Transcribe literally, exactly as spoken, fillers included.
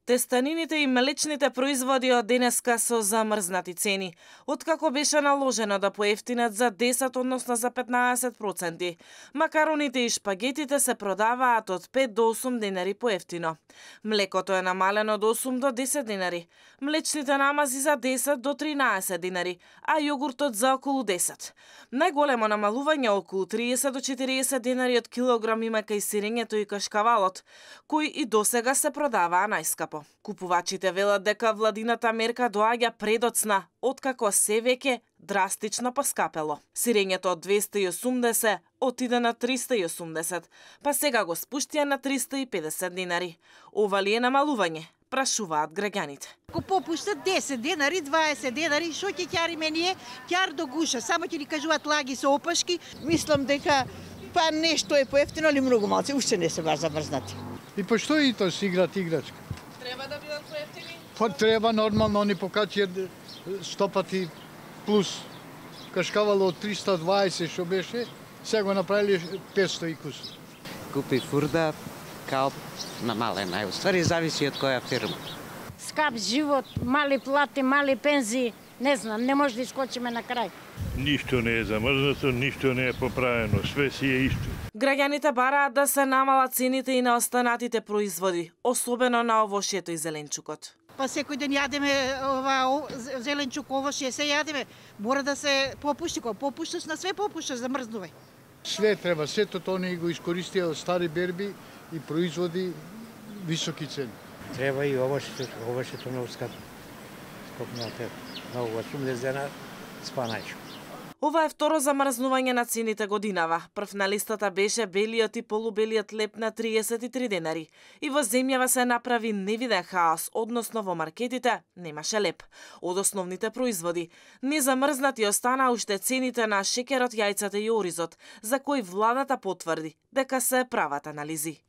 Тестанините и млечните производи од денеска со замрзнати цени, откако беше наложено да поевтинат за десет, односно за петнаесет проценти. Макароните и шпагетите се продаваат од пет до осум денари поевтино. Млекото е намалено од осум до десет денари, млечните намази за десет до тринаесет денари, а јогуртот за околу десет. Најголемо намалување околу триесет до четириесет денари од килограм има кај сирењето и кашкавалот, кои и досега се продаваа најскапо. Купувачите велат дека владината мерка доаѓа предоцна, откако се веќе драстично поскапело. Сирењето од двесте и осумдесет отиде на триста и осумдесет, па сега го спуштија на триста и педесет денари. Ова ли е намалување? Прашуваат граѓаните. Ако попуштат десет денари, дваесет денари, шо ќе ќариме ние? Ќар до гуша, само ќе ни кажуваат лаги со опашки. Мислам дека па нешто е поевтино, али многу малце, уште не се баш замрзнати. И па што и тоа си играт играчка? Треба да бидат поевтини? Па треба нормално, они покачија сто пати плюс. Кашкавало од триста и дваесет што беше, сега го направили петсто и кусur. Купи фурда, као намалена. Уствари зависи од која фирма. Скап живот, мали плати, мали пензии, не знам, не може да искочиме на крај. Ништо не е замрзнато, ништо не е поправено, све си е исто. Граѓаните бараат да се намалат цените и на останатите производи, особено на овошјето и зеленчукот. Па секој ден јадеме ова зеленчук, овошје, се јадеме. Мора да се попушти, кога попушташ на све попушташ, замрзнувај. Све треба, сето тоа не го искористија од стари берби и производи високи цени. Треба и овошјето, овошјето многу скапо. Скопнате, многу осумдесет денари, спанајчо. Ова е второ замрзнување на цените годинава. Прв на листата беше белиот и полубелиот леп на триесет и три денари. И во земјава се направи невиден хаос, односно во маркетите немаше леп. Од основните производи незамрзнати остана уште цените на шеќерот, јајцата и оризот, за кои владата потврди дека се прават анализи.